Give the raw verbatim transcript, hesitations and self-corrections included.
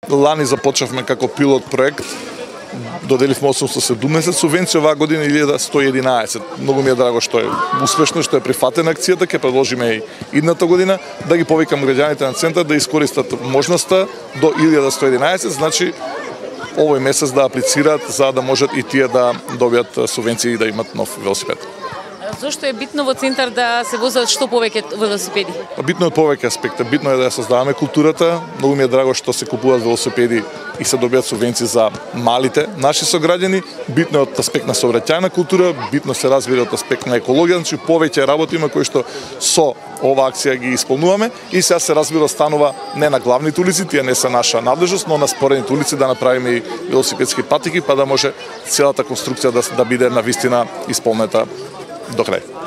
Лани започнавме како пилот проект, доделивме осумстотини и седумдесет субвенции, оваа година илјада сто и единаесет. Многу ми е драго што е успешно, што е прифатена акцијата, ќе предложиме и идната година да ги повикам граѓаните на центар да искористат можноста до илјада сто и единаесет, значи овој месец да аплицираат за да можат и тие да добијат субвенции и да имат нов велосипед. Зошто е битно во центар да се возат што повеќе велосипеди? Битно е од повеќе аспекти. Битно е да ја создаваме културата. Многу ми е драго што се купуваат велосипеди и се добијат субвенции за малите наши сограѓани. Битно е од аспект на сообраќајна култура, битно се разбира од аспект на екологија, значи повеќе работи има кои што со оваа акција ги исполнуваме и сега се разбира станува не на главните улици, тие не се наша надлежност, но на споредните улици да направиме и велосипедски патеки, па да може целата конструкција да, да биде навистина исполнета до крај.